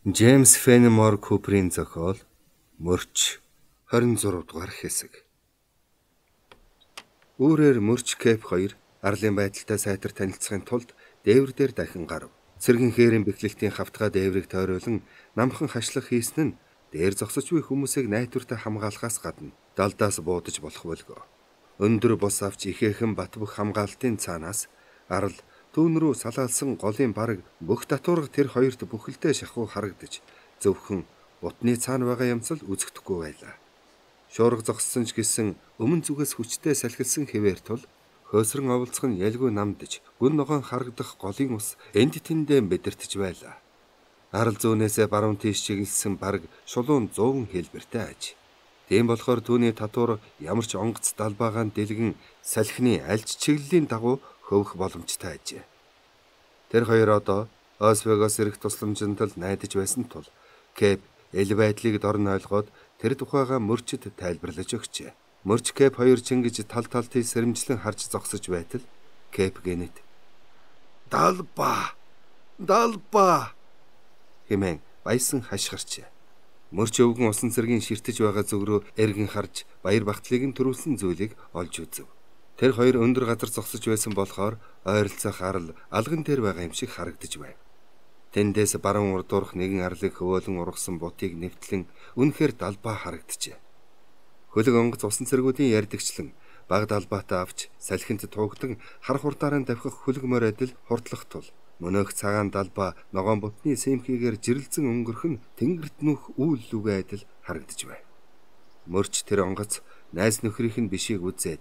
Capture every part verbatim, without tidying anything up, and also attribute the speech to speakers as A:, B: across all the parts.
A: Джеймс Фенемор Куперийн зохиол Мөрч хорин зурав дугаар хэсэг. Үүрээр Мөрч Кэп хоёр арлын байдалтай сайтар танилцахын тулд дээвэр дээр дахин гарав. Цэргийн хээрийн бэхлэлтийн хавтгай дээврийг тойруулан намхан хашлах хийсэн нь дээр зогсож буй хүмүүсийг найдвартай хамгаалахаас гадна далдаас буудаж болох болго. Өндөр бус авч ихээхэн бат бөх хамгаалтын цаанаас арал түүн рүү салаалсан голын бараг бүх татварга тэр хоёрт бүхэлдээ шахуу харагдаж зөвхөн бутны цаана байгаа юмсал үзэгдэхгүй байлаа. Шуурга зогссон ч гэсэн өмнө зүгээс хүчтэй салхилсан хэвээр тул хөөсрөн оволцох нь ялгүй намдж гүн ногоон харагдах голын ус энд тэндээ мэдэртэж байлаа. Арал зүүнээсээ баруун тийш чиглэсэн бараг шулуун зуун хэлбэртэй аж. Тийм болохоор түүний татвар ямар ч онгоц далбаагаан дэлгэн салхины альж чиглэлийн дагуу хөвөх боломжтой ажээ. Тэр хоёр одоо Освегос ирэх тусламжинд л найдаж байсан тул Кэп эл байдлыг дорн ойлгоод тэр тухайга Мөрчөд тайлбарлаж өгчээ. Мөрч Кэп хоёр чингэж тал талтыг сэрэмжлэн харж зогсож байтал Кэп гэнэт "Далба! Далба!" хэмээн баясан хашгирчээ. Мөрч өвгөн усан цэргийн ширтэж байгаа зүг рүү эргэн харж баяр багтлыг нь төрүүлсэн зүйлийг олж үзв. Тэр хоёр өндөр газар зогсож байсан болохоор ойролцоох арал алган дээр байгаа юм шиг харагдаж байв. Тэндээс баруун урдуурх нэгэн арлыг хөвөөлөн ургасан бутыг нэвтлэн үнэхээр далбаа харагджээ. Хөлөг онгоц усан цэргүүдийн ярдэгчлэн баг далбаатай авч салхинд туугдан хар хурдаараа давхих хөлөг морь адил хурдлах тул мөнөөх цагаан далбаа ногоон бутны сэмхийгээр жирэлзэн өнгөрөх нь тэнгэрт нүх үйл лүгэ адил харагдаж байв. Мөрч тэр онгоц найз нөхрийнх нь бишийг үзээд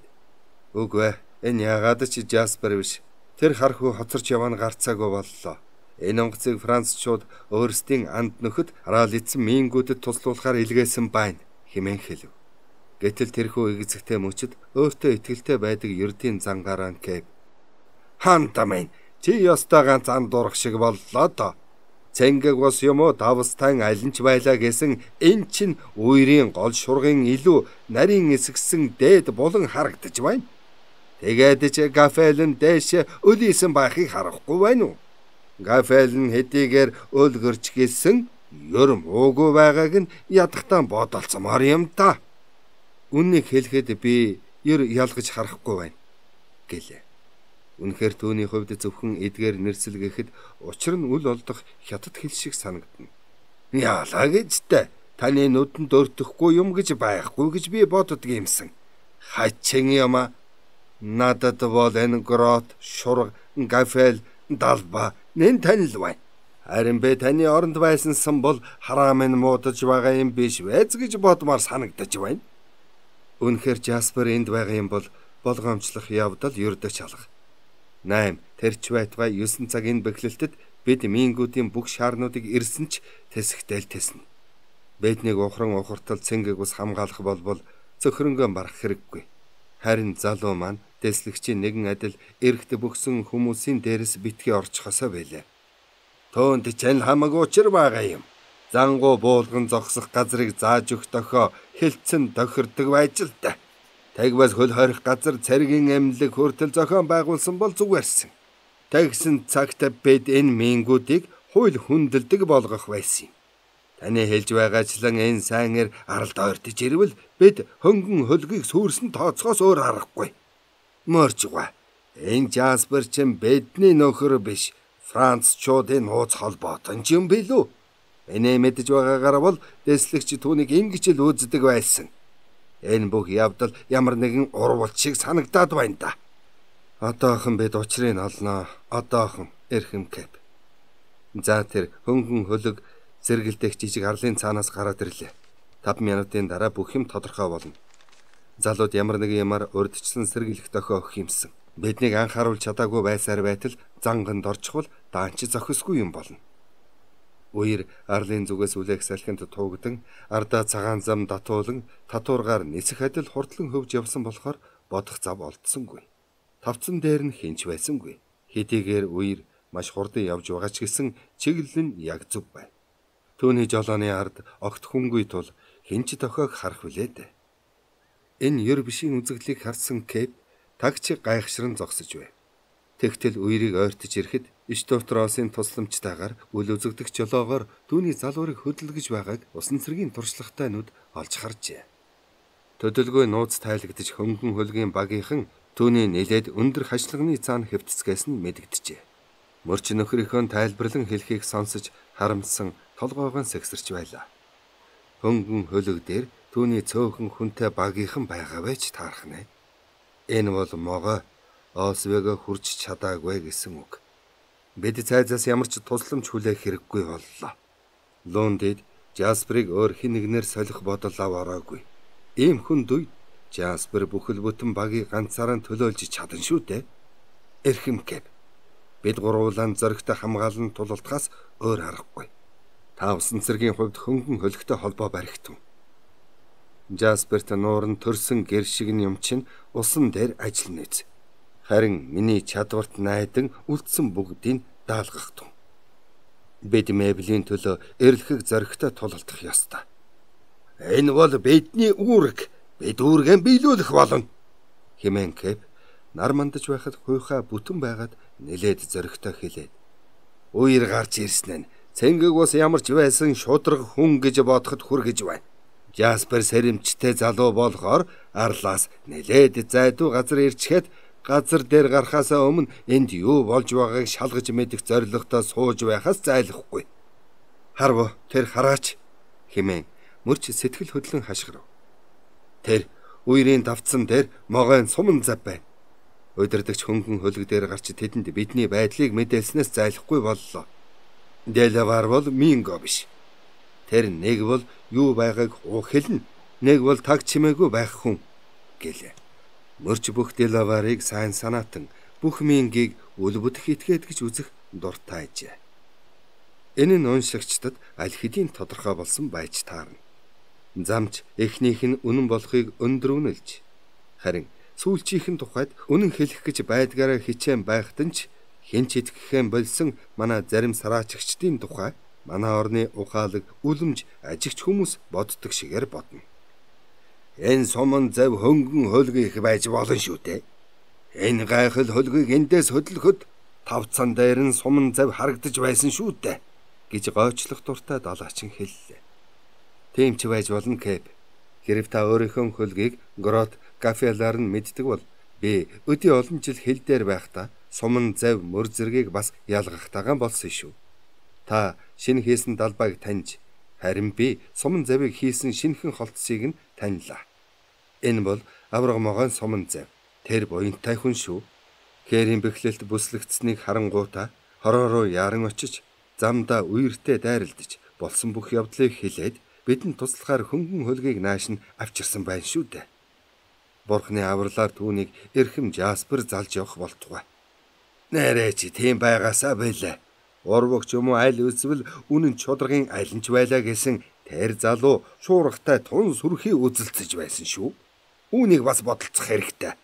A: "Үгүй, энэ яагаад ч Жаспер биш. Тэр хархуу хоцорч яваа нь гарцаагүй боллоо. Энэ онгоцыг Францчууд өөрсдийн анд нөхөд хараал эцэн мингүүдэд туслуулахаар илгээсэн байна" хэмээн хэлв. Гэтэл тэрхүү игзэгтэй мөчөд өөртөө итгэлтэй байдаг ердийн зангараа Кэп "Ханта минь, чи ёстой ганц анд дурах шиг боллоо доо. Цэнгэг бос юм уу давстан алинч байлаа гэсэн эн чин үерийн гол шургын илүү нарийн эсгсэн дээд булан харагдаж байна. Тэгээд ч Гафелэн дэше өлийсэн байхыг харахгүй байна уу? Гафелэн хэдийгээр өлгөрч гэлсэн ёрм уугүй байгааг нь ядахтан бодолцомоор юм та. Үннийг хэлэхэд би ёр ялгаж харахгүй байна гэлээ. Үнэхээр түүний хувьд зөвхөн эдгээр нэрсэл гэхэд учир нь үл олдох хятад хэл шиг санагдана. Яалаа гэжтэй. Таны нүдэнд өртөхгүй юм гэж байхгүй гэж би боддог юмсан. Хачин юм аа. Надад бол энэ грот, шург, Гафел, далба нэн танил байна. Харин бэ таны оронд байсан сан бол хараамын муудаж байгаа юм биш вэз гэж бодмоор санагдаж байна. Үнэхээр Жаспер энд байгаа юм бол болгоомжлох явдал ердөө чалга. Найм тэрч байтугай ёсон цагийн бэхлэлтэд бид мингүүдийн бүх шаарнуудыг ирсэн ч тэсэгтэл тэснэ. Биднийг ухран ухартал цэнгэг ус хамгаалах болбол цөхрөнгөө барах хэрэггүй. Харин залуу маань дэслэгчийн нэгэн адил эрэгт бөхсөн хүмүүсийн дээрээс битгий орчихосоо байлаа. Төөнд чань хамаагүй учир байгаа юм. Зангуу буулган зогсох газрыг зааж өгөх дохио хилцэн тохирдог байж л та. Тагвас хөл хорих газар цэргийн эмнэлэг хүртэл зохион байгуулсан бол зүгээрсэн. Тэгсэн цагт бид энэ мингүүдийг хууль хүндэлдэг болгох байсан юм. Таны хэлж байгаачлан энэ сайнэр аралд ойртож ирвэл бид хөнгөн хөлгийг сүрсэн тооцоос өөр аргагүй. Мөрчгүй. Энэ Жаспер чинь бидний нөхөр биш. Францчуудын нууц холбоотон юм билүү? Энийг мэдж байгаагаар бол дэслэгч түүнийг ингэж л үздэг байсан. Энэ бүх явдал ямар нэгэн урвалт шиг санагдаад байна да. Одоохон бид учрыг олноо. Одоохон эрхэм Кэп. За тэр хөнгөн хөлөг зэргэлдэх жижиг арлын цаанаас гараад ирлээ. таван минутын дараа бүх юм тодорхой болно. Залууд ямар нэгэн юмар урдчлан сэргийлэх дохио өгөх юмсан. Биднийг анхааруулж чадаагүй байсаар байтал занганд орчихвол даанч зохисгүй юм болно. Үер арлын зүгээс үлээх салхинд туугдан ардаа цагаан зам татуулан татваргаар нисэх адил хурдлан хөвж явсан болохоор бодох зав олдсонгүй. Тавцан дээр нь хинч байсангүй. Хэдийгээр үер маш хурдан явж байгаа ч гэсэн чиглэл нь яг зөв байв. Түүний жолооны ард огт хүнгүй тул хинч дохиог харах үлээд. Энэ ёр бишийн үзэгдлийг харсан Кэп тагч гайхшран зогсож байв. Тэгтэл үерийг ойртож ирэхэд Штофтросын тусламжтайгаар үл үзэгдэх жолоогоор түүний залуурыг хөдөлгөж байгааг усан цэргийн туршлагатай нүд олж харжээ. Төдөлгүй нууц тайлагдж хөнгөн хөлгийн багийнхан түүний нэлээд өндөр хашлагны цаана хэвтцгээс нь мэдэгджээ. Мөрч нөхрийнхөө тайлбарлан хэлхийг сонсож харамсан толгоогоо сэгсэрч байлаа. Хөнгөн хөлөг дээр түүний цөөхөн хүнтэй багийнхан байгаа байж таарах нэ. Энэ бол могой Освего хурж чадаагүй гэсэн үг. Бид цайзаас ямар ч тусламж хүлээх хэрэггүй боллоо. Лундид Жасперыг өөр хэн нэгнээр солих бодол аваараагүй. Ийм хүнд үе Жаспер бүхэл бүтэн багийг ганцаараа төлөөлж чадна шүү дээ. Эрхэм Кэп. Бид гурвуулан зөрөгтэй хамгаалан тулалдахаас өөр аргагүй. Та усан цэргийн хувьд хөнгөн хөлөгтэй холбоо баригдсан. Жасперт нууран төрсөн гэр шиг юм чинь усан дээр ажиллана үз. Харин миний чадварт найдан үлдсэн бүгдийг даалгах тун. Бид мэблийн төлөө эрлэхийг зөрөгтэй тулалдах ёстой. Энэ бол бидний үүрэг. Бид үүргээ биелүүлэх болно. Хэмээн Кэп нар мандаж байхад хуйхаа бүтэн байгаад нэлээд зөрөгтэй хэлээд. Үер гарч ирсэн нь цэнгэг бас ямар ч байсан шудраг хүн гэж бодоход хүргэж байна. Жаспер сэрэмжтэй залуу болохоор арлаас нэлээд зайдуу газар ирчихэд газар дээр гарахаасаа өмнө энд юу болж байгааг шалгаж мэдэх зорилготой сууж байхаас зайлахгүй. Харв тэр хараач хэмээн мөрч сэтгэл хөдлөн хашгирав. Тэр үерийн давцсан дээр могойн суман зав байна. Удирдагч хөнгөн хөлөг дээр гарч тэдэнд бидний байдлыг мэдээлснээс зайлахгүй боллоо. Дэлавар бол Минго биш. Тэр нэг бол юу байгааг уу хэлнэ, нэг бол таг чимээгүй байх хүн гэлээ. Мөрч бүх Дэлаварыг сайн санаатан бүх Мингийг үл бүтэх этгээд гэж үзэх дуртай ажээ. Энэ нь уншигчдад аль хэдийн тодорхой болсон байж таарна. Замч эхнийх нь үнэн болохыг өндрүүнэлж, харин сүүлчийнхэн тухайд үнэн хэлэх гэж байдгаараа хичээн байхад нь ч хэн ч итгэхэн болсон манай зарим сараачигчдын тухай манай орны ухаалаг үлэмж ажигч хүмүүс боддог шигээр бодно. Энэ суман зав хөнгөн хөлгөх байж болно шүү дээ. Энэ гайхал хөлгийг эндээс хөдлөхөд тавцан дээр нь суман зав харагдаж байсан шүү дээ гэж гойчлох дуртай далаачин хэллээ. Тийм ч байж болно Кэп. Хэрв та өөрийнхөө хөлгийг грот кафелаар нь мэддэг бол би өдөө олон жил хил дээр байхдаа суман зав мөр зэргийг бас ялгахтайгаан болсон шүү. Та шинэ хийсэн далбайг таньж, харин би суман завыг хийсэн шинэхэн холтсыг нь таньлаа. Энэ бол авраг могойн суман зав. Тэр буянтай хүн шүү. Хээрийн бэхлэлт бүслэгдсэнийг харангуйта хороо руу яран очиж замдаа үертэй дайралдаж болсон бүх явдлыг хэлээд бидэнд туслахаар хөнгөн хөлгийг нааш нь авчирсан байна шүү дээ. Бурхны авралаар түүнийг эрхэм Жаспер залж явах болтугай. Нэрээ чи тийм байгаасаа байлаа. Урвагч юм уу аль үзвэл үнэн чударгын алинч байлаа гэсэн тэр залуу шуургатай тун сүрхий үзэлцэж байсан шүү. Үүнийг бас бодолцох хэрэгтэй.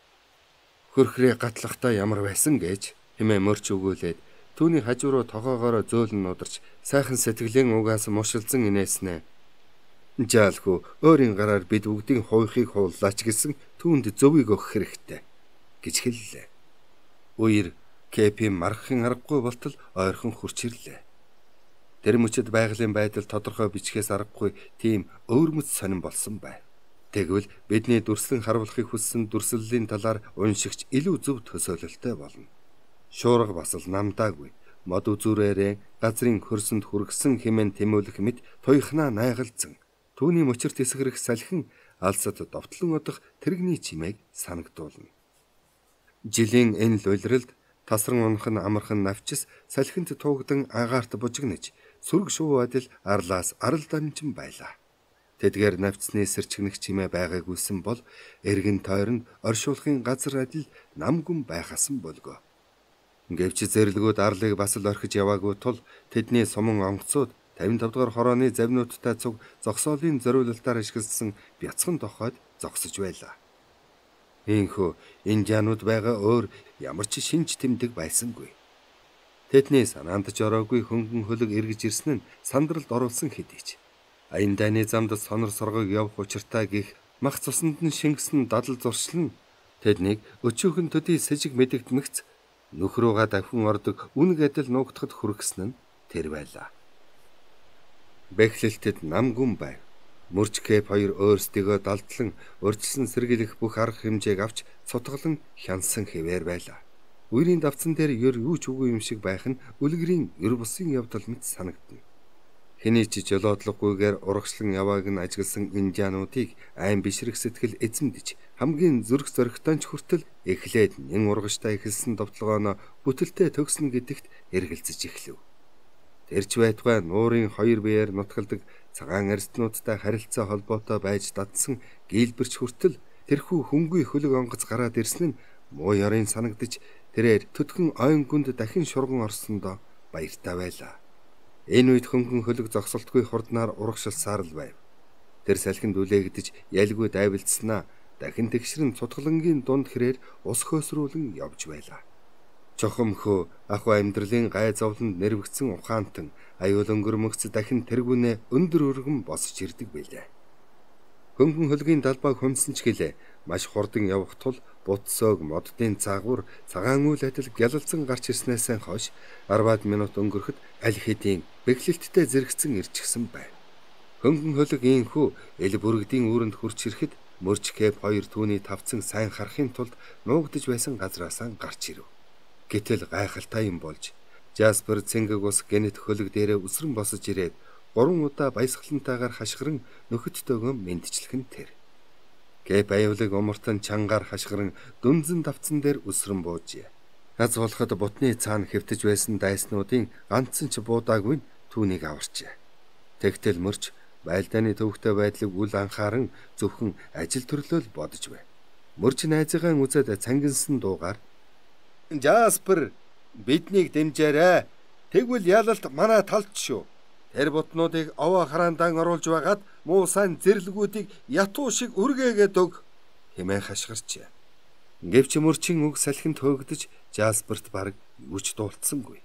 A: Хөрхрээ гатлахтаа ямар байсан гэж хэмээн мөрч өгөөлээд түүний хажуу руу тогоогоороо зөөлн нударч сайхан сэтгэлийн угаас мушилзан инээснэ. Жаалхүү өөрийн гараар бид бүгдийн хуйхыг хууллаач гэсэн түүнд зөвийг өгөх хэрэгтэй гэж хэллээ. Үер Кэпийн маргахын аргагүй болтол ойрхон хурч ирлээ. Тэр мөчөд байгалийн байдал тодорхой бичгээс аргагүй тийм өвөрмөц сонирн болсон байна. Тэгвэл бидний дүрслэн харуулахыг хүссэн дүрслэлийн талаар уншигч илүү зөв төсөөлөлтэй болно. Шуурга бас л намдаагүй. Мод үзүүрээрээ газрын хөрсөнд хүргэсэн хэмээн тэмүүлэх мэт туйхнаа найгалзсан. Түүний мөчөр тэсгэрэх салхин алсад довтлон одох тэрэгний чимээг санагдуулна. Жилийн энэ л улиралд тасран унах нь амархан навчис салхинд туугдан агаарт бужигнаж сүрг шуу адил арлаас арал дамжин байлаа. Тэдгээр навцсны сэрчгнэх чимээ байгаагүйсэн бол эргэн тойронд оршуулахын газар адил намгүн байхасан болго. Гэвч зэрлэгүүд арлыг бас л орхиж яваагүй тул тэдний суман онгоцууд тавин тавд дугаар хорооны завнуудтай цуг зогсоолын зориулалтаар ашигласан бяцхан тохойд зогсож байлаа. Ийхүү индианууд байгаа өөр ямар ч шинж тэмдэг байсангүй. Тэдний санаанд ч ороогүй хөнгөн хөлөг эргэж ирсэн нь сандралд оруулсан хэдий ч аян дайны замд сонор соргог явах учиртай гих мах цуснд нь шингэсэн дадал зуршлан тэднийг өчөөхөн төдий сэжиг мэдэгдмэгц нөхрөөгаа давхин ордог үнэг адил нуугдахад хүргэсэн нь тэр байлаа. Бэхлэлтэд нам гүн байв. Мөрч Кэп хоёр өөрсдийгөө далдлан урьдчилан сэргийлэх бүх арга хэмжээг авч цутгалан хянсан хэвээр байлаа. Үерийн давцан дээр ёр юу ч үгүй юм шиг байх нь үлгэрийн ёр бусын явдал мэт санагдана. Хэний ч жолоодлоггүйгээр урагшлан явааг нь ажигласан индиануудыг айн бишрэх сэтгэл эзэмдэж хамгийн зүрх зоригтой ч хүртэл эхлээд нэн ургаштай эхэлсэн довтлогооноо бүтэлтэй төгснө гэдэгт эргэлзэж эхлэв. Тэрч байтугай нуурын хоёр биеэр нутгалдаг цагаан арстнуудтай харилцаа холбоотой байж дадсан гээлбэрч хүртэл тэрхүү хөнгүй хөлөг онгоц гараад ирсэн нь муу ёрын санагдаж тэрээр төдхөн ойн гүнд дахин шурган орсондоо баяртай байлаа. Энэ үед хөнгөн хөлөг зогсолтгүй хурднаар урагшилсаар л байв. Тэр салхинд үлээгдэж ялгүй дайвилдснаа дахин тэгшрэн цутгалангийн дунд хэрээр ус хөөсрүүлэн явж байлаа. Чохомхөө аху амьдралын гай зовлонд нэрвэгцэн ухаантан аюул өнгөрмөгц дахин тэргүүнээ өндөр өргөн босч ирдэг байлаа. Хөнгөн хөлгийн далбайг хумсан ч гэлээ маш хурдан явах тул бутсоог моддын цаагуур цагаан үйл адил гялалзан гарч ирснээсээ хойш арваад минут өнгөрөхөд аль хэдийн бэхлэлттэй зэрэгцэн ирчихсэн байв. Хөнгөн хөлөг ийхүү эл бүргэдийн үүрэнд хурч ирэхэд Мөрч Кэп хоёр түүний тавцан сайн харахын тулд нуугдж байсан газраасаа гарч ирэв. Гэтэл гайхалтай юм болж Жаспер цэнгэг ус генет хөлөг дээрээ үсрэн босож ирээд гурван удаа баясгалантайгаар хашгиран нөхөдтэйгөө мэндчлэх нь тэр. Кэп аюулыг умартан чангаар хашгиран дүнзэн давцан дээр үсрэн буужээ. Аз болоход бутны цаана хэвтэж байсан дайснуудын ганцхан ч буудаагүй түүнийг аварчээ. Тэгтэл мөрч байлдааны төвхтэй байдлыг үл анхааран зөвхөн ажил төрлөөл бодож байв. Мөрч найзыгаа үзээд цангинсан дуугаар Жаспер биднийг дэмжээрэй. Тэгвэл ялалт манай талд шүү. Тэр бутнуудыг овоо хараандаа оруулж байгаад муу сайн зэрлгүүдийг ятуу шиг үргээгээд өг хэмээн хашгирчээ. Гэвч мөрчин үг салхинд хөөгдөж Жасперт бараг үуч дуулцсангүй.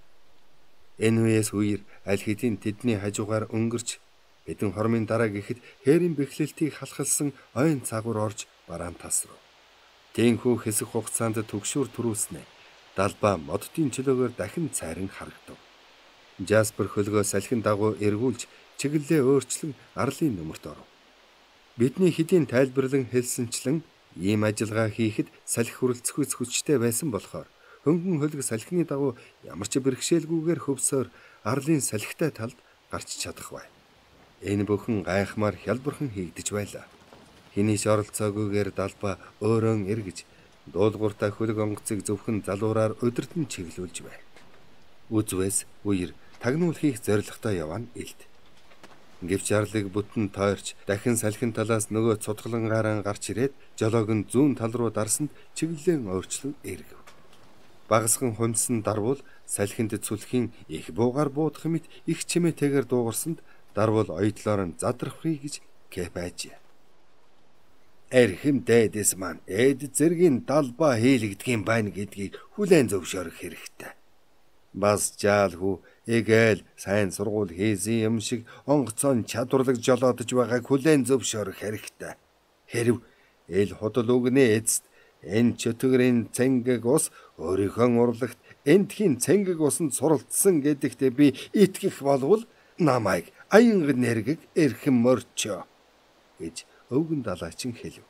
A: Энэ үеэс үер аль хэдийн тэдний хажуугаар өнгөрч хэдэн хормын дараа гэхэд хээрийн бэхлэлтийг халахалсан ойн цагуур орж бараан тасрав. Тэнхүү хэсэг хугацаанд төгшүүр төрүүлснэ. Далбаа моддын чөлөөгөр дахин цайран харагдав. Жаспер хөлгөө салхин дагуу эргүүлж чиглэлээ өөрчлөн арлын нөмөрт оров. Бидний хэдийн тайлбарлан хэлсэнчлэн ийм ажиллагаа хийхэд салхи хүрэлцэхгүй хүчтэй байсан болохоор хөнгөн хөлг салхины дагуу ямар ч бэрхшээлгүйгээр хөвсөөр арлын салхитай талд гарч чадах бай. Энэ бүхэн гайхмаар хялбархан хийгдэж байлаа. Хэний ч оролцоогүйгээр далбаа өөрөөн эргэж дуулууртай хөлөг онгоцыг зөвхөн залуураар удирдан чиглүүлж байв. Үзвээс үер тагнуул хийх зорилготой явна илт. Гэвч арлыг бүтэн тойрч дахин салхин талаас нөгөө цутгалангаараа гарч ирээд жолоог нь зүүн тал руу дарсанд чиглэлэн өөрчлөн эргэв. Багасхан хумсан дарвул салхинд цүлхийн их буугаар буудах мэт их чимээтэйгээр дуугарсанд дарвул оёдлоор нь задрахыг гэж Кэп айжээ. Эрхэм дээдэс маань эд зэргийн далбаа хийлэгдгийн байна гэдгийг хүлээн зөвшөөрөх хэрэгтэй. Бас жаалхүү эгээл сайн сургууль хийсэн юм шиг онгоцон чадварлаг жолоодож байгааг хүлээн зөвшөөрөх хэрэгтэй. Хэрв эл худал үгнээ эцэст энэ чөтгөрийн цэнгэг ус өөрийнхөө урлагт эндхийн цэнгэг усанд суралцсан гэдэгт би итгэх болвол намайг аянга нэргэг эрхэм морчоо гэж өвгөн далайчин хэлв.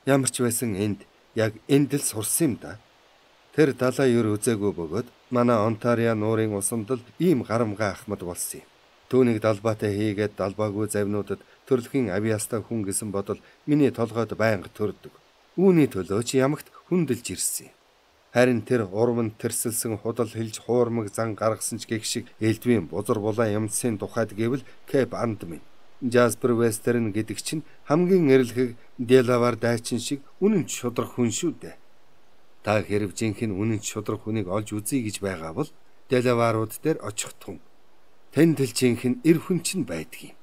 A: Ямар ч байсан энд яг энд л сурсан юм да. Тэр далай юр үзээгүй бөгөөд манай Онтарио нуурын усанд л ийм гарамгай ахмад болсон юм. Түүнийг далбаатай хийгээд далбаагүй завнуудад төрөлхийн авиастаа хүн гэсэн бодол миний толгойд байнга төрдөг. Үүний төлөө ч ямагт хүндэлж ирсэн юм. Харин тэр урманд тэрсэлсэн худал хэлж хуурмаг зан гаргасан ч гэх шиг элдвийн бузар булаа юмсын тухайд гэвэл Кэп анд минь. Жаспер Вестерн гэдэг чинь хамгийн эрлэхэг Делавар дайчин шиг үнэн ч шудрах хүн шүү дээ. Та хэрв жинхэнэ үнэн ч шудрах хүнийг олж үзье гэж байгаа бол Делаварууд дээр очих тун. Тэнд л жинхэнэ эр хүн чинь байдгийг.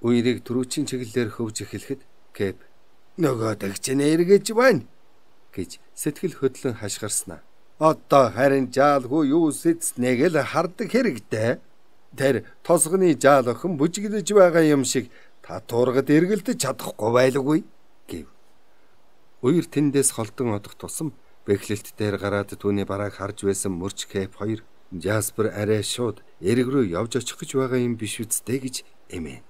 A: Үерийг түрүүчийн чиглэлээр хөвж эхлэхэд Кэп нөгөө дагч нэргэж байна гэж сэтгэл хөдлөн хашгирснаа. Одоо харин жаалгүй юу сэцнэг л хардаг хэрэгтэй. Тэр тосгоны жаал охин бүжиглэж байгаа юм шиг та туургад эргэлдэж чадахгүй байлгүй гэв. Үер тэндээс холдон одох тусам Бэхлэлт дээр гараад түүний барааг харж байсан мөрч Кэп хоёр Жаспер арай шууд эрэг рүү явж очих гэж байгаа юм биш үсттэй гэж эмээн.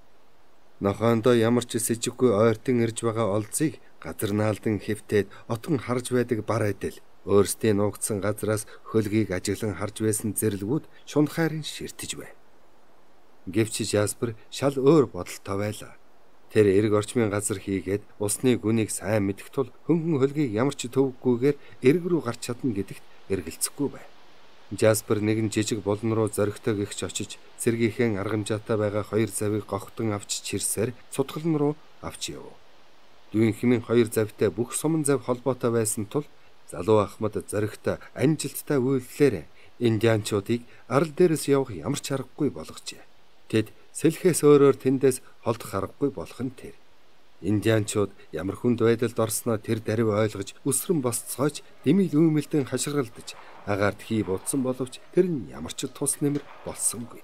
A: Нохоондоо ямар ч сэжиггүй ойртон ирж байгаа олзыг газар наалдан хэвтээд отгон харж байдаг бар адил өөрсдийн нуугдсан газраас хөлгийг ажиглан харж байсан зэрлгүүд шунхаарин ширтэж байв. Гэвч Жаспер шал өөр бодолтой байлаа. Тэр эрг орчмын газар хийгээд усны гүнийг сайн мэдэх тул хөнгөн хөлгийг ямар ч төвөггүйгээр эрг рүү гарч чадна гэдэгт эргэлзэхгүй байв. Жаспер нэгэн жижиг болон руу зоригтой гихч очиж цэргийнхээ аргамжаатай байгаа хоёр завыг гогтон авч чирсээр цутгалн руу авч яв. Дүйн хэмээн хоёр завтай бүх суман зав холбоотой байсан тул залуу Ахмад зоригтой амжилттай үйлдэлээр индианчуудыг арал дээрээс явах ямар ч аргагүй болгожээ. Тэд сэлхээс өөрөөр тэндээс холдох аргагүй болох нь тэр. Индианчууд ямар хүнд байдалд орсноо тэр даруй ойлгож өсрөн босцоож дэмил үүмэлдэн хашгиралдаж агаарт хий будсан боловч тэр нь ямар ч тус нэмэр болсонгүй.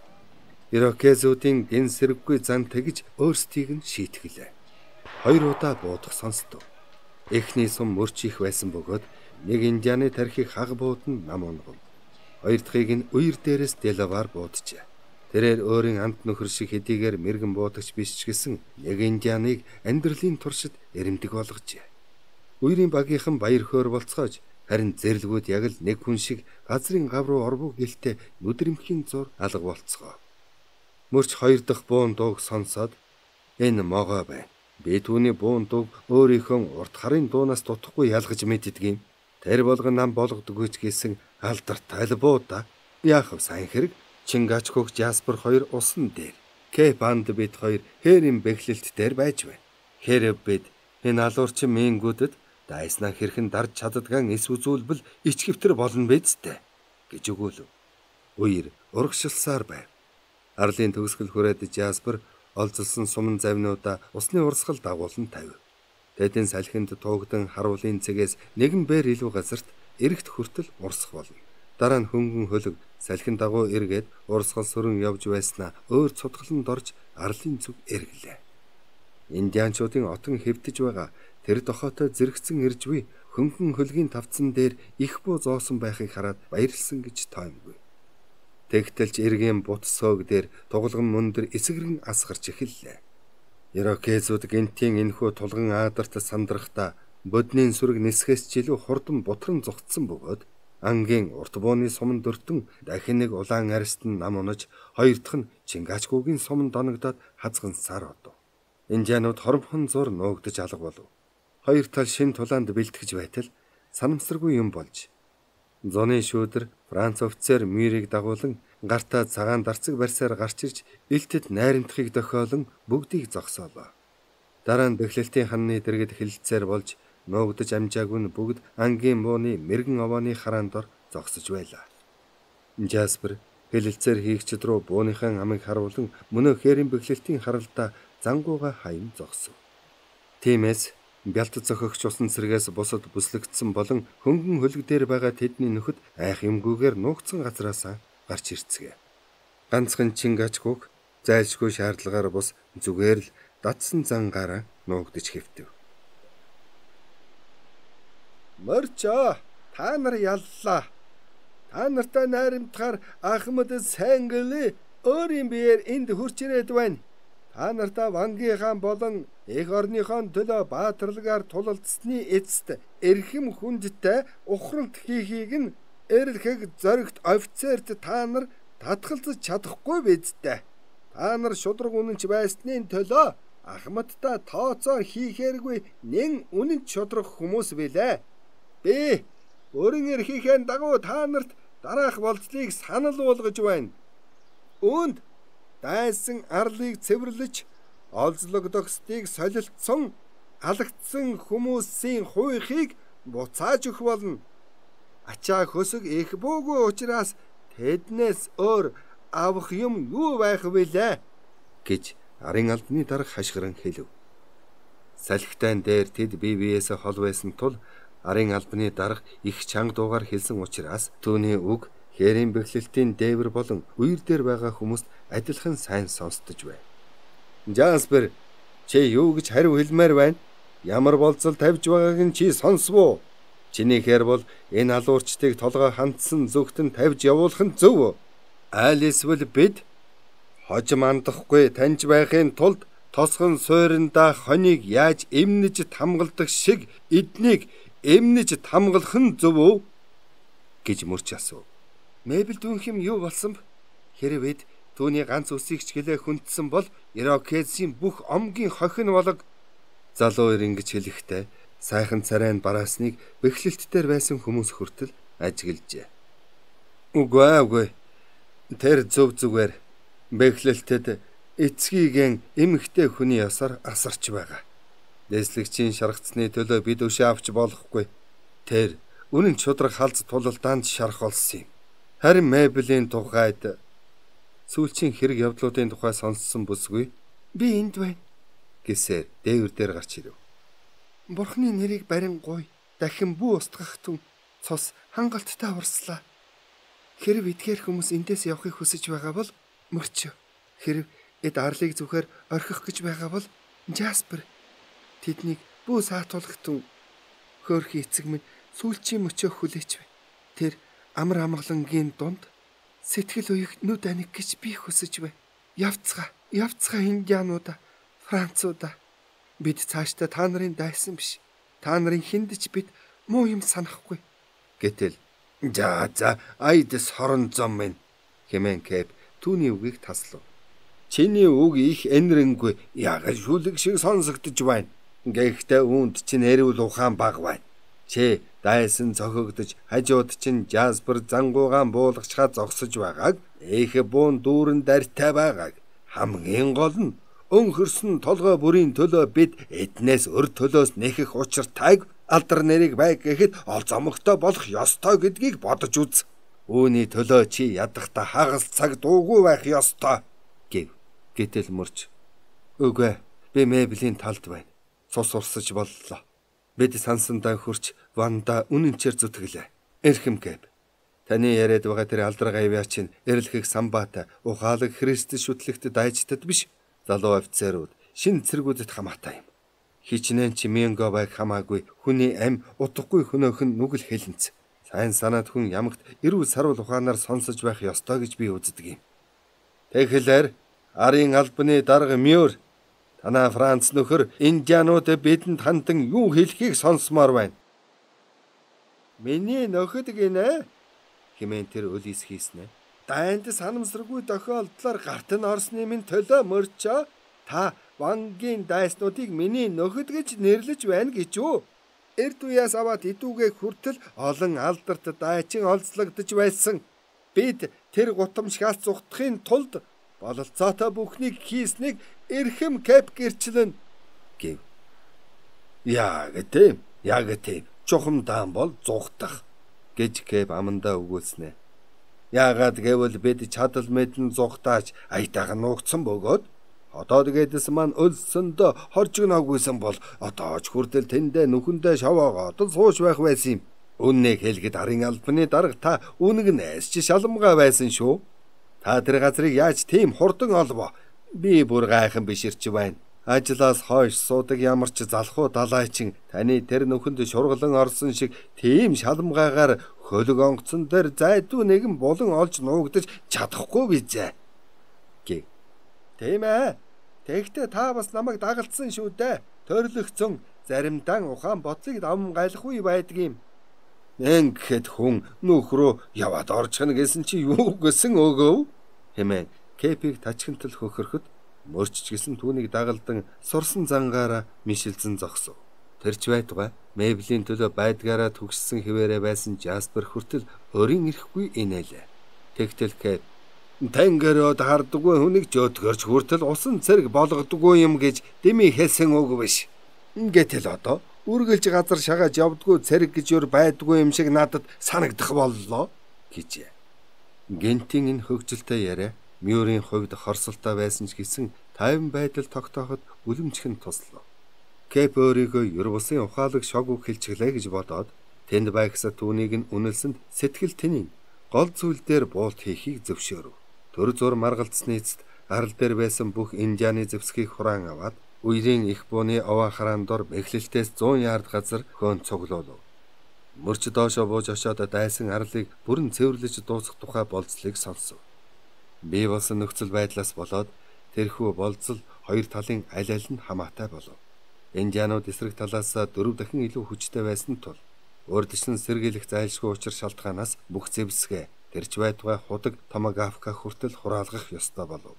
A: Ирокезуудын гэн сэрэггүй зан тэгж өөрсдийг нь шийтгэлээ. Хоёр удаа буудах сонстов. Эхний сум мөрч их байсан бөгөөд нэг индианы тархийг хаг буудан нам унгав. Хоёр дахьыг нь үер дээрээс Делавар бууджээ. Тэрээр өөрийн амт нөхөр шиг хэдийгээр мэрэгэн буудагч биш ч гэсэн нэг индианыг амьдралын туршид эрэмдэг болгожээ. Үерийн багийнхан баяр хөөр болцоож харин зэрлгүүд яг л нэг хүн шиг газрын гав руу орвоо гэлтэй нүдрэмхийн зур алга болцгоо. Мөрч хоёр дахь буун дууг сонсоод энэ могоо байна. Би түүний буун дууг өөрийнхөө урт харын дуунаас дутхгүй ялгаж мэддэг юм. Тэр болгон нам болгодоггүй ч гэсэн алдартай л буу да. Яах вэ сайн хэрэг? Чингачгүйг Жаспер хоёр усан дээр, Кэп анд бид хоёр хээрийн бэхлэлт дээр байж байна. Хэрэг бид энэ алуурчин мингүүдэд дайснаа хэрхэн дарж чаддгаан эс үзүүлбэл ичгэвтер болно бидтэй гэж өгөөлөв. Үер урагшилсаар байв. Арлын төгсгөл хүрээд Жаспер олзолсон суман завнуудаа усны урсгал дагуулan тавив. Тэдэн салхинд туугдан харуулын цэгээс нэгэн бээр илүү газарт эрэгт хүртэл урсах болно. Дараа нь хөнгөн хөлөг салхин дагуу эргээд урсгал сүрэн явж байснаа өөр цутгаланд орж арлын зүг эргэлээ. Индианчуудын отон хэвтэж байгаа тэр дохоотой зэрэгцэн ирж буй хөнгөн хөлгийн тавцан дээр их буу зоосон байхыг хараад баярлсан гэж тоймгүй. Тэгтэлж эргийн бут соог дээр тугалган мөндөр эсгэрэн асгарч эхэллээ. Ирокезууд гинтийн энхүү тулган аадарт сандрахта боднын сүрэг нисхээс ч илүү хурдан бутран зогтсон бөгөөд ангийн урт бууны суман дөртөн дахин нэг улаан арьст нь нам унаж хоёр дахь нь Чингачгүйгийн суман доногдоод хазгансаар одов. Индианууд хоромхон зур нуугдаж алга болов. Хоёр тал шин тулаанд бэлтгэж байтал санамсаргүй юм болж. Зуны шүүдэр Франц офицер Мирийг дагуулan гартаа цагаан дарцаг барьсаар гарч ирж элтэд найрамдахыг дохиолон бүгдийг зогсоолоо. Дараа нь бэхлэлтийн ханны дэргэд хилцээр болж нуугдаж амжаагүй нь бүгд ангийн бууны мэрэгэн овооны хараанд ор зогсож байлаа. Жаспер хэлэлцээр хийгчд рүү бууныхаа амыг харуулan мөнөө хээрийн бэхлэлтийн харалтаа зангууга хаян зогсов. Тиймээс бялт зохигч усан цэргээс бусад бүслэгдсэн болон хөнгөн хөлөг дээр байгаа тэдний нөхөд айх юмгүйгээр нуугдсан газраасаа гарч ирцгээе. Ганцхан Чингачгүйг зайлшгүй шаардлагаар бус зүгээр л датсан зангаараа нуугдаж хэвтэв. Морчо, та нар яллаа. Та нартай найрамдахаар Ахмад сайн гэлээ өөрийн биеэр энд хурч ирээд байна. Та нартай Вангийн хаан болон эх орныхон төлөө баатарлагаар тулалдсны эцэст эрхэм хүндтэй ухралт хийхийг нь эрлэхэг зоригт офицерт та нар татгалзаж чадахгүй бидтэй. Та нар шудраг үнэнч байсны төлөө Ахмадтай тооцоо хийхээргүй нэн үнэнч шудраг хүмүүс билээ. Би өөрийн эрхийнхээ дагуу та нарт дараах болцлыг санал болгож байна. Үүнд дайсан арлыг цэвэрлэж олзлогдохстыг солилцсон алагдсан хүмүүсийн хуйхыг буцааж өгөх болно. Ачаа хөсөг их буугүй учраас тэднээс өөр авах юм юу байх вүлээ гэж арын албаны дарга хашгиран хэлв. Салхитайн дээр тэд бие биеэсээ хол байсан тул арын албаны дарга их чанга дуугаар хэлсэн учраас түүний үг хээрийн бэхлэлтийн дээвэр болон үер дээр байгаа хүмүүст адилхан сайн сонсдож байна. Жаспер, чи юу гэж хариу хэлмээр байна? Ямар болцол тавьж байгааг нь чи сонсвоо Чиний хэр бол энэ алуурчдыг толгой хандсан зүгтэн тавьж явуулах нь зөв. Айл эсвэл бид хожим андахгүй таньж байхын тулд тосгон сууринда хоныг яаж эмнэж тамгалдаг шиг эднийг эмнэж тамгалах нь зөв үү гэж мөрч асуув. Мэбэл дүүнх юм юу болсон бэ? Хэрвээ түүний ганц үсийг ч гэлээ хүндсэн бол Ирокезийн бүх омгийн хохин болог. Залуу ир ингэж хэлэхдээ сайхан царайн бараасныг бэхлэлт дээр байсан хүмүүс хүртэл ажиглжээ. Үгүй үгүй. Тэр зөв зүгээр бэхлэлтэд эцгийгэн эмэгтэй хүний ясаар асарч байгаа. Дэслэгчийн шаргацсны төлөө бид өшөө авч болохгүй. Тэр үнэн чудраг халз тулалдаанд шарах болсон юм. Харин Мэблийн тухайд сүүлчийн хэрэг явдлуудын тухай сонссон бүсгүй би энд байна гэсээр дээвэр дээр гарч ирэв. Бурхны нэрийг барин гуй. Дахин бүү устгах түн цус хангалттай урслаа. Хэрв эдгээр хүмүүс эндээс явахыг хүсэж байгаа бол мөрчөө. Хэрв эд арлыг зүхээр орхих гэж байгаа бол Жаспер тэднийг бүү саатуулах түн. Хөөрхи эцэг минь сүүлчийн мөчөө хүлээч бай. Тэр амар амгалангийн дунд сэтгэл уйг нүд аник гэж би хүсэж бай. Явцгаа, явцгаа индиануудаа, француудаа. Бид цаашдаа та нарын дайсан биш. Та нарын хиндэж бид муу юм санахгүй. Гэтэл за за айдас хорон зам минь хэмээн Кэп түүний үгийг таслав. Чиний үг их энэрэнгүй яг шүлэг шиг сонсогдож байна. Гэхдээ үүнд чинь эрүүл ухаан баг байна. Чи дайсан цохигдож хажууд чинь Жаспер зангуугаан буулгачхаа зогсож байгааг их буун дүүрэн дартай байгааг хамгийн гол нь өнхөрсөн толгой бүрийн төлөө бид эднээс өр төлөөс нэхэх учиртайг алдар нэрийг байг гэхэд ол зомогтой болох ёстой гэдгийг бодож үз. Үүний төлөө чи ядахта хагас цаг дуугүй байх ёстой гэв. Гэтэл мөрч үгүй би Мэблийн талд байна. Цус урсаж боллоо. Бид сансандаа хурч Ванда үнэнчээр зүтгэлээ. Эрхэм Кэп. Таны яриад байгаа тэр алдар гавьяа чинь эрлэхийг самбаата ухаалаг Христэд шүтлэгт дайчдад биш. Залуу офицерууд шин цэргүүдэд хамаатай юм. Хичнээн чи Менго байг хамаагүй хүний ам утгагүй хөнөөхөн нүгэл хэлэнц. Сайн санаад хүн ямагт эрүүл сарвал ухаанаар сонсож байх ёстой гэж би үздэг юм. Тэгэхээр арын албаны дарга Мюр танаа Франц нөхөр индианууд бидэнд хандан юу хэлхийг сонсомоор байна. Миний нөхөд гинэ хэмээн тэр өлис хийснэ. Дайнд санамсаргүй тохиолдлоор гарт нь орсны минь төлөө мөрчөө. Та Вангийн дайснуудыг миний нөхөд гэж нэрлэж байна гэж үү? Эрд уяас аваад идүүгээ хүртэл олон алдарт дайчин олзлогдож байсан. Бид тэр гутамшгаас зүхтахын тулд бололцоотой бүхнийг хийснийг эрхэм Кэп гэрчлэн гэв. Яг тийм, яг тийм. Чухам даан бол зүхтах гэж Кэп амандаа өгүүлснэ. Яагаад гэвэл бид чадал мэдэн зүхтаач аятайхан нуугдсан бөгөөд одоо тэгээдэс маань өлсөндөө хоржигнаагүйсэн бол одоо ч хүртэл тэндээ нүхэндээ шаваагаад сууж байх байсан юм. Үннийг хэлгээд арын албаны дарга та үнэг нээс чи шаламгаа байсан шүү. Та тэр газрыг яаж тийм хурдан олвоо? Би бүр гайхан биширч байна. Ажлаас хойш суудаг ямар ч залхуу далайчин таны тэр нүхэнд шургалан орсон шиг тийм шаламгаагаар хөлөг онгоцон дээр зайдуу нэгэн булан олж нуугдаж чадахгүй бизээ. Гэв. Тийм ээ. Тэгэхдээ та бас намайг дагалдсан шүү дээ. Төрлөгцөн заримдаа ухаан бодлыг давм гайлахгүй байдаг юм. Ингээд хүн нөхрөө яваад орчихно гэсэн чи юу гэсэн өгөв? Хэмээн Кэпийг тачхинтал хөхөрөхөд мөрчч гисэн түүнийг дагалдан сурсан зангаараа мишилзэн зогсов. Тэрч байтугай Мэблийн төлөө байдгаараа төгссөн хിവэрэ байсан Жаспер хүртэл өрийн ирэхгүй инээлээ. Тэгтэл Кэп Тэнгэрөд хардггүй хүнийг жөөдгөрч хүртэл усан цэрэг болгодгүй юм гэж дими хэлсэн үг биш. Гэтэл одоо үргэлж газар шагааж явдггүй цэрэг гэж юу байдгүй юм шиг надад санагдах боллоо гэжээ. Гентийн энэ хөгжилтэй яриа Мюрийн хувьд хорсолтой байсан ч гэсэн тайван байдал тогтооход үлэмжхэн туслав. Кэп өөрийгөө ер бусын ухаалаг шог үг хэлчихлээ гэж бодоод тэнд байгсаа түүнийг нь үнэлсэнд сэтгэл тэнийн гол зүйл дээр буулт хийхийг зөвшөөрөв. Төр зур маргалцсны эцэст арал дээр байсан бүх индианы зэвсгийг хураан аваад үерийн их бууны овоо хараан дор мэхлэлтээс зуун ярд газар хөөн цуглуулв. Мөрч доошоо бууж очоод дайсан арлыг бүрэн цэвэрлэж дуусгах тухай болцлыг сонсов. Бий болсон нөхцөл байдлаас болоод тэрхүү болцол хоёр талын аль аль нь хамаатай болов. Индианууд эсрэг талаас дөрөв дахин илүү хүчтэй байсан тул урдчилан сэргийлэх зайлшгүй учир шалтгаанаас бүх зэвсгээ тэрч байтугай худаг Томагавка хүртэл хураалгах ёстой болов.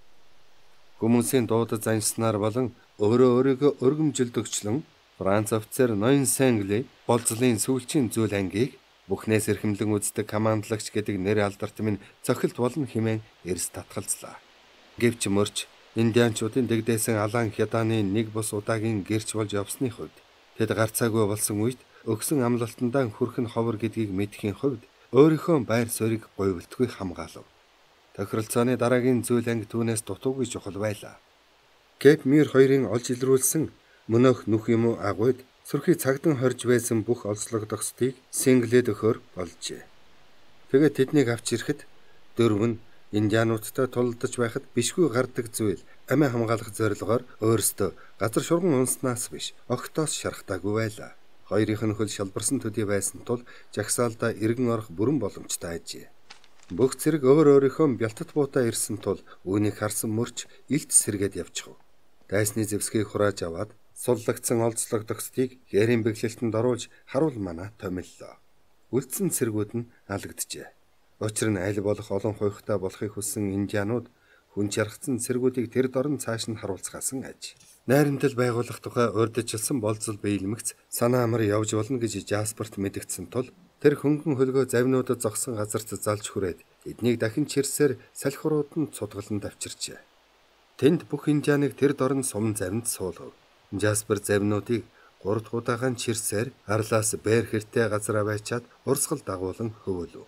A: Хүмүүсийн дуудаж заншснаар болон өөрөө өөрийгөө өргөмжилдөгчлөн Франц офицер Ноин Сенгли болцлын сүүлчийн зүйл ангийг бүхнээс эрхэмлэн үздэг командлагч гэдэг нэр алдарт минь цохилт болно хэмээн эрс татгалзлаа. Гэвч мөрч индианчуудын дэгдээсэн алаан хятааны нэг бус удаагийн гэрч болж явсны хувьд тэд гарцаагүй болсон үед өгсөн амлалтандаа хүрэх нь ховор гэдгийг мэдхийн хувьд өөрийнхөө байр суурийг гойволтгүй хамгаалав. Тохиролцооны дараагийн зүйл анги түүнээс дутуугүй чухал байлаа. Кэп Мир хоёрын олж илрүүлсэн мөнөөх нүх юм уу агуйд сүрхий цагдан хорж байсан бүх олзлогдохстыг Синглэд өгөхөр болжээ. Тэгээд тэднийг авч ирэхэд дөрөв нь индиануудтай тулдаж байхад бишгүй гардаг зүйл амиа хамгаалах зорилгоор өөрсдөө газар шурган унснаас биш огтоос шархтаагүй байлаа. Хоёрынх нь хөл шалбарсан төдий байсан тул жагсаалдаа иргэн орох бүрэн боломжтой ажээ. Бүх зэрэг өөр өөрийнхөө бялтат буутаа ирсэн тул үүнийг харсан мөрч илт сэргээд явчихв. Дайсны зэвсгийг хурааж аваад суллагдсан олзлогдохстыг гэрийн бэглэлтэнд оруулж харуул манаа томиллоо. Үлдсэн цэргүүд нь алгджээ. Учир нь аль болох олон хуйхтай болохыг хүссэн индианууд хүн чаргацсан цэргүүдийг тэр дорн цааш нь харуулцгаасан аж. Найрамдал байгуулах тухай урьдчилсан болцол биелмэгц санаа амар явж болно гэж Жасперт мэдгдсэн тул тэр хөнгөн хөлгөө завнуудад зогсон газарт залж хүрээд эднийг дахин чирсээр салхирууд нь цудгалан давчирчээ. Тэнд бүх индианыг тэр дорн сум завинд суулгав. Жаспер завнуудыг гурав дахь удаагаан чирсээр арлаас бээр хэртэй газар аваачаад урсгал дагуулan хөвөлөв.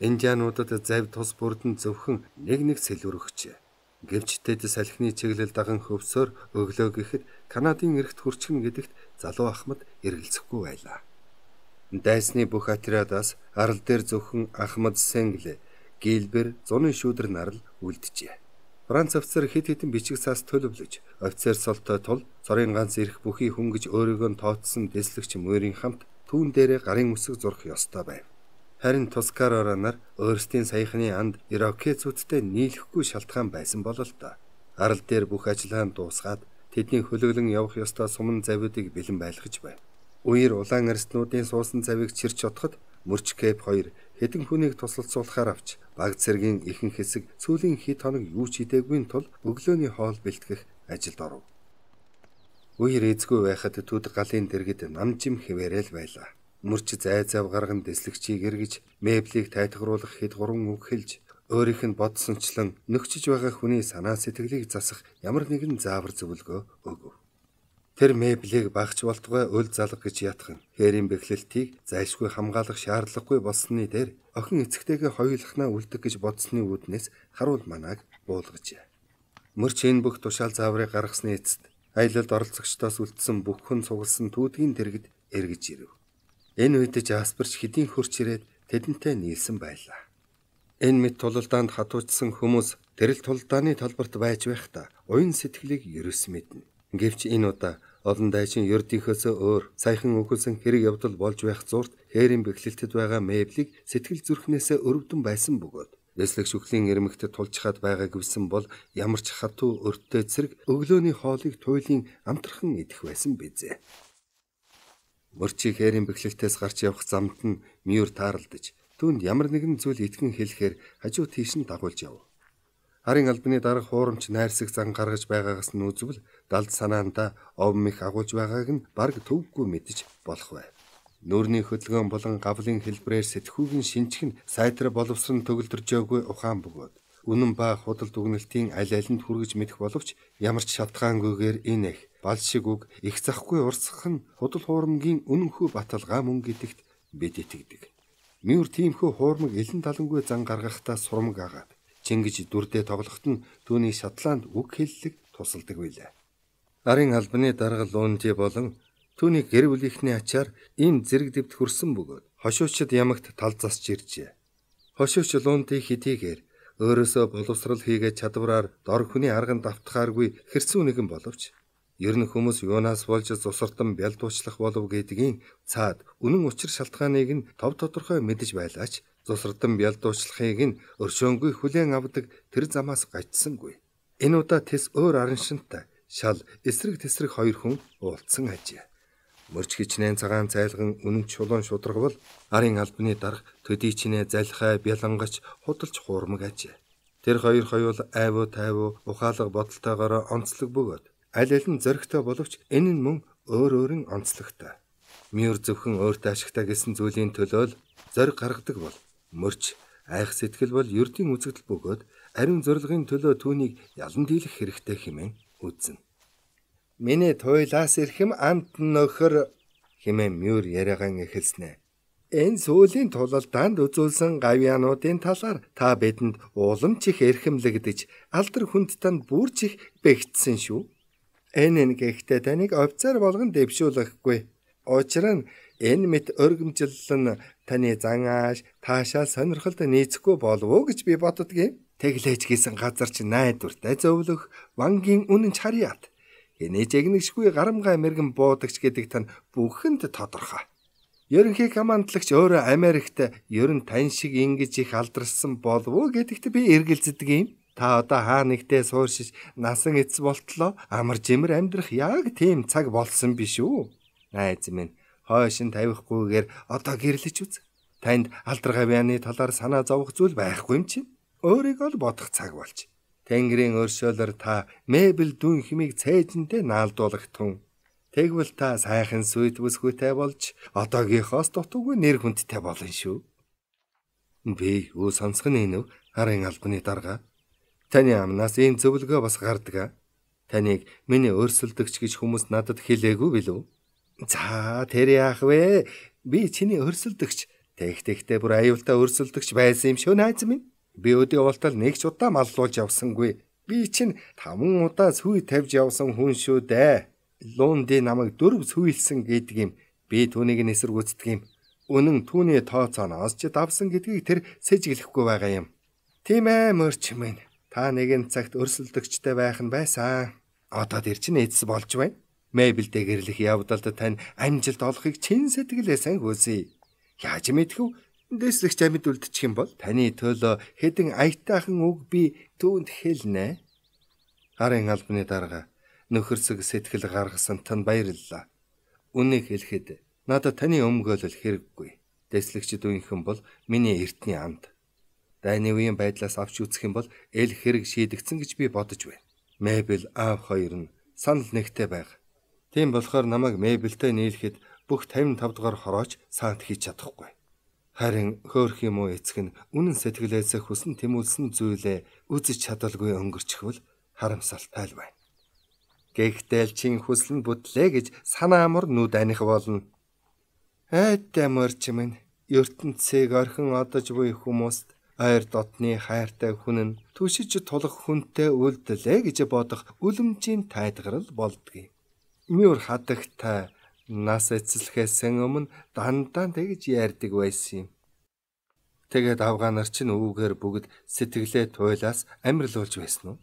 A: Индиануудад завь тус бүрдэн зөвхөн нэг нэг сэлвэр өгчээ. Гэвч тэд салхины чиглэл даган хөвсөөр өглөө гэхэд Канадын эрхт хүрчгэн гэдэгт залуу Ахмад эргэлзэхгүй байлаа. Дайсны бүх отрядаас арал дээр зөвхөн Ахмад Сенгле, Гилбер, зуны шүүдэр нарл үлджээ. Франц офицер хэд хэдэн бичиг цаас төлөвлөж, офицер солтой тул цорын ганц ирэх бүхий хүн гэж өөрийгөө тооцсон дэслэгч мөрийн хамт түүн дээрээ гарын үсэг зурх ёстой байв. Харин Тускарора нар өөрсдийн саяхны анд ирокезүүдтэй нийлэхгүй шалтгаан байсан болол та. Арал дээр бүх ажиллагаа дуусгаад тэдний хөлөглөн явах ёстой суман завьдыг бэлэн байлгаж байв. Үер улаан арстнуудын суусан завийг чирч отоход мөрч Кэп хоёр хэдэн хүнийг тусалцуулахаар авч баг цэргийн ихэнх хэсэг сүүлийн хэд хоног юу ч хийдэггүй тул өглөөний хоол бэлтгэх ажилд оров. Үер эзгүй байхад түд галын дэргэд намжим хэвээрэл байлаа. Мөрч зай зав гарган дэслэгчийг эргэж меблийг тайтгаруулах хэд гурван үг хэлж өөрийнх нь бодсончлон нөхчиж байгаа хүний санаа сэтгэлийг засах ямар нэгэн заавар зөвлөгөө өгөв. Тэр меблийг багч болтугай үл залга гэж ятхан хээрийн бэхлэлтийг зайлшгүй хамгаалах шаардлагагүй болсны дээр охин эцэгтэйгээ хоёулахнаа үлдэх гэж бодсны үүднээс харуул манааг буулгажээ. Мөрч энэ бүх тушаал зааврыг гаргасны эцэст аялалд оролцогчдоос үлдсэн бүх хүн сугалсан түүдгийн дэргэд эргэж ирэв. Энэ үед Жасперч хэдийн хурч ирээд тэдэнтэй нийлсэн байлаа. Энэ мэд тулалдаанд хатуучсан хүмүүс тэрэл тулалдааны талбарт байж байхдаа уян сэтгэлийг ерөөс мэднэ. Гэвч энэ удаа олон дайчин ердийнхөөсөө өөр саяхан өгүүлсэн хэрэг явдал болж байх зурт хээрийн бэхлэлтэд байгаа меблийг сэтгэл зүрхнээсээ өрөвдөн байсан бөгөөд дэслэг шүхлийн ирмэгтэд тулчхаад байгаа гэвсэн бол ямар ч хатуу өртөө цэрэг өглөөний хоолыг туйлын амтрхан идэх байсан бизээ. Мөрчиг хээрийн бэхлэлтээс гарч явах замд нь Мюр таарлаж түүнд ямар нэгэн зүйл итгэн хэлэхээр хажуу тийш нь дагуулж яв. Харын албаны дарга хуурамч найрсаг зан гаргаж байгаагаас нь үзвэл далд санаанда овм их агуулж байгааг нь бараг төвгүй мэдэж болох байв. Нүүрний хөдөлгөөн болон гавлын хэлбрээр сэтгүүгийн шинжих нь сайтар боловсрон төгөлдржөөгүй ухаан бөгөөд үнэн ба худал дүгнэлтийн аль алинд хүргэж мэдэх боловч ямар ч шалтгаангүйгээр энэ их бал шиг үг их захгүй урсгах нь худал хуурмгийн үнэнхүү баталгаа мөн гэдэгт бид итгэдэг. Мюр тиймхүү хуурмаг элен талангүй зан гаргахтаа сурмаг агаад Чингиж дүрдээ тоглоход нь түүний Шотланд үг хэллэг тусалдаг байлаа. Арын албаны дарга Лунди болон түүний гэр бүлийнхний ачаар ийм зэрэг дэвт хөрсөн бөгөөд хошуучид ямагт тал засч иржээ. Хошууч Лунди хэдийгээр өөрөөсөө боловсрал хийгээд чадвараар дор хүний арганд автахааргүй хэрцүү нэгэн боловч Ер нь хүмүүс юунаас болж зусартан бялдуучлах болов гэдгийн цаад үнэн учир шалтгааныг нь тов тодорхой мэдэж байлаач зусартан бялдуучлахыг нь өршөөнгүй хүлээн авдаг тэр замаас гачсангүй. Энэ удаа тэс өөр араншинтай шал эсрэг тесрэг хоёр хүн уулзсан ажээ. Мөрч хичнээн цагаан цайлган үнэн чулуун шударгавал арын албаны дарга төдий чинээ залхай бялангач худалж хуурмаг ажээ. Тэр хоёр хоёул айвуу тайвуу ухаалаг бодолтойгоор онцлог бөгөөд аль аль нь зөрөгтэй боловч энэ нь мөн өөр өөрийн онцлогтой. Мөр зөвхөн өөртөө ашигтай гэсэн зүйлийн төлөө л зориг гаргадаг бол мөрч айх сэтгэл бол ердийн үзэгдэл бөгөөд ариун зорилгын төлөө түүнийг ялан дийлэх хэрэгтэй хэмээн үзнэ. Миний туйлаас ирэхэм амт нөхөр хэмээн мөр яриагаан эхэлснэ. Энэ сүүлийн тулалдаанд үзүүлсэн гавьяануудын талаар та бидэнд уламж их эрхэмлэгдэж алдар хүнд танд бүрч их бэгдсэн шүү. Энэ нь гэхдээ таныг овцоор болгон дэвшүүлэхгүй. Учир нь энэ мэт өргөмжлөл нь таны зан ааш таашаал сонирхолд нийцэхгүй болов уу гэж би боддгийн. Тэглэж гисэн газар чи найдвартай зөвлөх вангийн үнэн чарьяат. Хинэ жигнэгшгүй гарамгай мэрэгэн буудагч гэдэг тань бүхэнд тодорхой. Ерөнхий командлагч өөрөө Америкт ерөн тань шиг ингэж их алдарсан болов уу гэдэгт би эргэлздэг юм. Та одоо хаа нэгтээ сууршиж насан эц болтлоо амар жимэр амьдрах яг тийм цаг болсон биш үү? Найз минь хойшин тавихгүйгээр одоо гэрлэж үз. Танд алдар гавьяаны талаар санаа зовох зүйл байхгүй юм чинь. Өөрийгөө л бодох цаг болж. Тэнгэрийн өршөөлөөр та мебель дүүн хэмийг цээжинтэй наалдуулах тун. Тэгвэл та сайхан сүйт бүсгүйтэй болж одоогийнхоос дутуугүй нэр хүндтэй болно шүү. Би юу сонсох нь энэ арын албаны дарга. Таны амнаас ийм зөвлөгөө бас гардаг. Таныг миний өрсөлдөгч гэж хүмүүс надад хэлээгүй билүү? За тэр яах вэ? Би чиний өрсөлдөгч. Тэгтэхтэй бүр аюултай өрсөлдөгч байсан юм шүү найз минь. Би өдөө болтол нэг ч удаа маллуулж явсангүй. Би чинь таван удаа сүй тавьж явсан хүн шүү дээ. Лунди намайг дөрөв сүййлсэн гэдэг юм. Би түүнийг нэсэргүүцдэг юм. Үнэн түүний тооцооноос ч давсан гэдгийг тэр сэжиглэхгүй байгаа юм. Тийм ээ мөрч минь. Та нэгэн цагт өрсөлдөгчтэй байх нь байсан. Одоо тэр чинь эцэс болж байна. Мебелдээ гэрлэх явдалд тань амжилт олохыг чин сэтгэлээ сайн хүсье. Яаж мэдхв? Дэслэгч амьд үлдчих юм бол таны төлөө хэдэн аятайхан үг би түүнд хэлнэ. Арын албаны дарга нөхөрсөг сэтгэл гаргасан тань баярлалаа. Үнийг хэлэхэд надад таны өмгөөлөл хэрэггүй. Дэслэгчд үеийнхэн бол миний эртний амд. Дайны үеийн байдлаас авч үзэх юм бол эл хэрэг шийдэгцэн гэж би бодож байна. Мебель аав хоёр нь санал нэгтэй байг. Тийм болохоор намайг мебелтэй нийлэхэд бүх тавин тав дугаар хорооч саант хийж чадахгүй. Харин хөөх юм уу эцэг нь үнэн сэтгэлээсээ хүсэн тэмүүлсэн зүйлээ үзэж чадалгүй өнгөрчихвөл харамсалтай л байна. Гэхдээ л чин хүсэл нь бүтлээ гэж санаа амар нүд аних болно. Айтай морч минь ертөнцийг орхин одож буй хүмүүст ойр дотны хайртай хүн нь түшиж тулах хүнтэй үлдлээ гэж бодох үлэмжийн тайлгарл болдгийг. Мөр хадагтай нас эцэлхээс өмнө дандаа тэгж ярьдаг байсан юм. Тэгээд авгаанар чинь үүгээр бүгд сэтгэлээ туйлаас амьрлуулж байсан уу?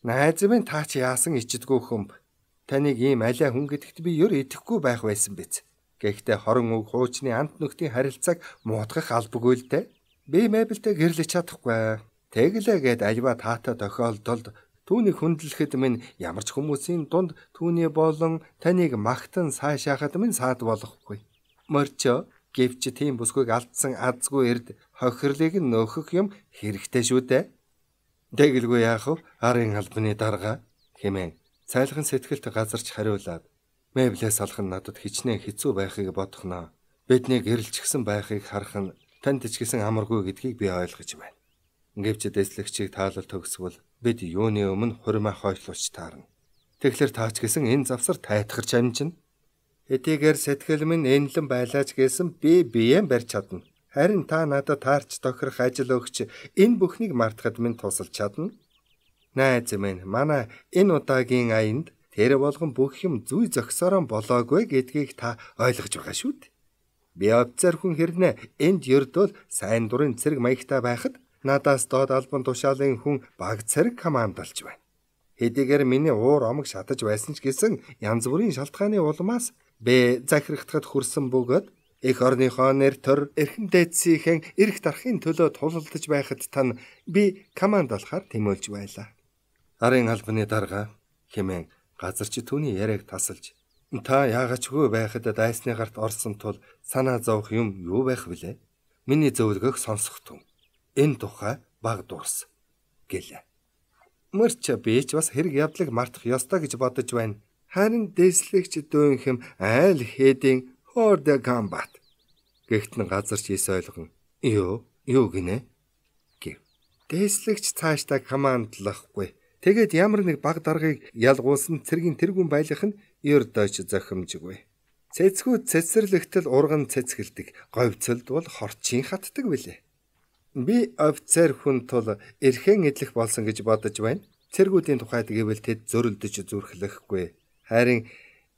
A: Найз минь та чи яасан ичдэггүй хөмб. Таныг ийм алиа хүн гэдэгт би ер идэхгүй байх байсан биз. Гэхдээ хорон үг хуучны ант нөхдийн харилцааг муудгах албагүй л дээ. Би мебелтэй гэрлэж чадахгүй. Тэглээгээд альва таатай тохиолдолд түүнийг хүндлэхэд минь ямар ч хүмүүсийн дунд түүний болон таныг магтан сайшаахад минь саад болохгүй. Морчо гэвч тийм бүсгүйг алдсан азгүй эрд хохирлыг нөхөх юм хэрэгтэй шүү дээ. Тэгэлгүй яах вэ? Арын албаны дарга хэмээн цайлган сэтгэлд газарч хариулаад меблээс алах нь надад хичнээн хэцүү байхыг бодохноо. Бидний гэрэлчгсэн байхыг харах нь танд ч гэсэн амаргүй гэдгийг би ойлгож байна. Гэвч дэслэгчийг таалал төгсвөл бид юуны өмнө хурмаа хойшлуулж таарна. Тэгэхээр таач гэсэн энэ завсар тайтгарч амжина. Хэдийгээр сэтгэл минь энлэн байлаач гэсэн би биеэн барьж чадна. Харин та надад таарч тохирох ажил өгч энэ бүхнийг мартахад минь тусалж чадна. Найз минь манай энэ удаагийн аянд тэр болгон бүх юм зүй зөксөрөн болоогүй гэдгийг та ойлгож байгаа шүү дээ. Би овцор хүн хэрнээ энд ердөө сайн дурын цэрэг маягтай байхад надаас доод албан тушаалын хүн баг цэрэг командолж байна. Хэдийгээр миний уур омог шатаж байсан ч гэсэн янз бүрийн шалтгааны улмаас би захирагдахад хүрсэн бөгөөд эх орныхоо нэр төр эрхэм дээдсийнхэн эрх дарахын төлөө тулалдаж байхад тань би команд болохоор тэмүүлж байлаа. Арын албаны дарга хэмээн газарч түүний яриаг тасалж та яагачгүй байхад дайсны гарт орсон тул санаа зовох юм юу байх вүлээ? Миний зөвлөгөөг сонсох тун. Энэ тухай баг дурс гэлээ. Мөрч би ч бас хэрэг явдлыг мартах ёстой гэж бодож байна. Харин дэслэгч дүүнхэм айл хэдийн хорда комбат. Гэхдээ газарч ис ойлгон юу юу гинэ гэв. Дэслэгч цаашдаа командлахгүй. Тэгээд ямар нэг баг даргаыг ялгуулсан цэргийн тэргүүн байлах нь ердөөч зохимжгүй. Цэцгүүд цэцэрлэгтэл урган цэцгэлдэг, говьцолд бол хорчин хатдаг билээ. Би офицер хүн тул эрхэн эдлэх болсон гэж бодож байна. Цэргүүдийн тухайд гэвэл тэд зөрөлдөж зүрхлэхгүй. Харин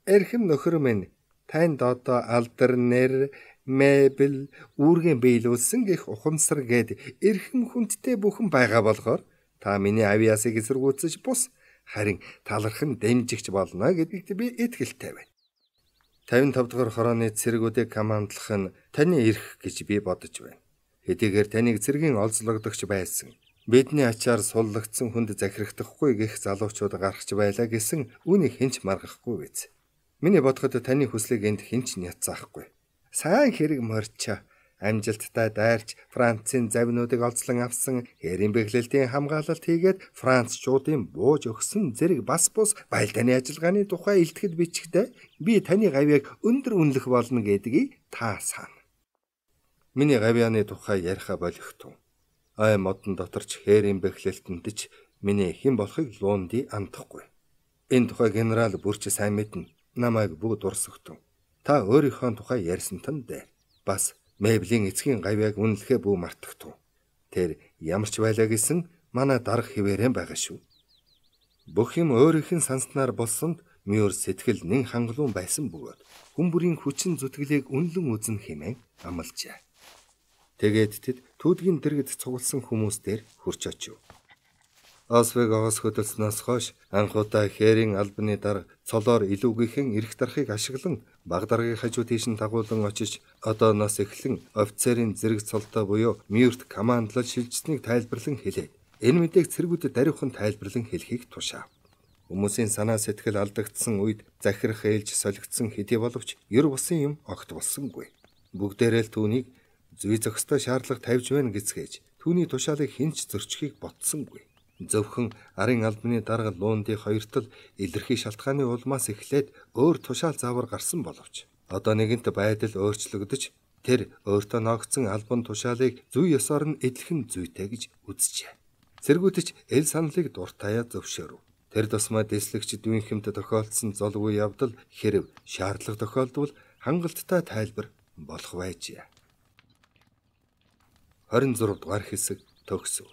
A: эрхэм нөхөр минь танд одоо алдар нэр мэбэл үүргэн биелүүлсэн гэх ухамсар гээд эрхэм хүндтэй бүхэн байгаа болохоор та миний авиасыг эсэргүүцэж бус харин талархан дэмжигч болно гэдэгт би итгэлтэй байна. тавин тав дахь хорооны цэргүүдийг командлах нь таны эрх гэж би бодож байна. Хэдийгээр таныг цэргийн олзлогдогч байсан, бидний ачаар суллагдсан хүнд захирагдахгүй гэх залуучууд гарахч байлаа гэсэн үүнийг хинч маргахгүй биз. Миний бодоход таны хүслийг энд хинч няцаахгүй. Сайн хэрэг морьчоо. Амжилттай дайрч Францын завинуудыг олзлон авсан, хэрийн бэглэлтийн хамгаалалт хийгээд Францчуудын бууж өгсөн зэрэг бас бус баялдааны ажиллагааны тухай илтгэл бичгтээ би таны гавьяаг өндөр үнэлэх болно гэдгийг та сана. Миний гавьяаны тухай яриха болихтун. Ай модон доторч хэрийн бэглэлтэнд ч миний хэн болохыг луунди андахгүй. Энэ тухай генерал бүрч сайн мэднэ. Намайг бүгд урсгтун. Та өөрийнхөө тухай ярьсан тань дээ. Бас мэблийн эцгийн гавьяаг үнэлэхээ бүү мартагтун. Тэр ямар ч байлаа гэсэн манай дарга хിവэрэн байгаа шүү. Бүх юм өөрийнх нь санснаар болсонд мөр сэтгэл нэн хангалуун байсан бөгөөд хүн бүрийн хүчин зүтгэлийг үнэлэн үзэн хэмээн амлажээ. Тэгээд тэд түүдгийн дэргэд цугласан хүмүүс дээр хурч очив. Освегоос хөдөлснөөс хойш анхудаа хэрийн албаны дарга цолоор илүүгийнхэн эрх дарахыг ашиглан баг даргын хажуу тийш нь дагуулan очиж одооноос эхлэн офицерын зэрэг цолтой буюу мюрт командлал шилжсэнийг тайлбарлан хэлээд энэ мэдээг цэргүүдэд даруйхан тайлбарлан хэлхийг тушаав. Хүмүүсийн санаа сэтгэл алдагдсан үед захирах ээлж солигдсон хэдий боловч ер бусын юм огт болсонгүй. Бүгдээрээ л түүнийг зүй зохистой шаардлага тавьж байна гэцгээж түүний тушаалыг хинч зөрчихийг ботсонгүй. Зөвхөн арын албаны дарга луунди хоёртол илэрхий шалтгааны улмаас эхлээд өөр тушаал заавар гарсан боловч одоо нэгэнт байдал өөрчлөгдөж тэр өөртөө ногдсон албан тушаалыг зүй ёсоор нь эдлэх нь зүйтэй гэж үзжээ. Цэргүүдч эл саналыг дуртаяа зөвшөөрөв. Тэр тусмаа дэслэгч дүүнхэмд тохиолдсон золгүй явдал хэрв шаардлага тохиолдвол хангалттай тайлбар болох байжээ. хорин зурав дугаар хэсэг төгсөв.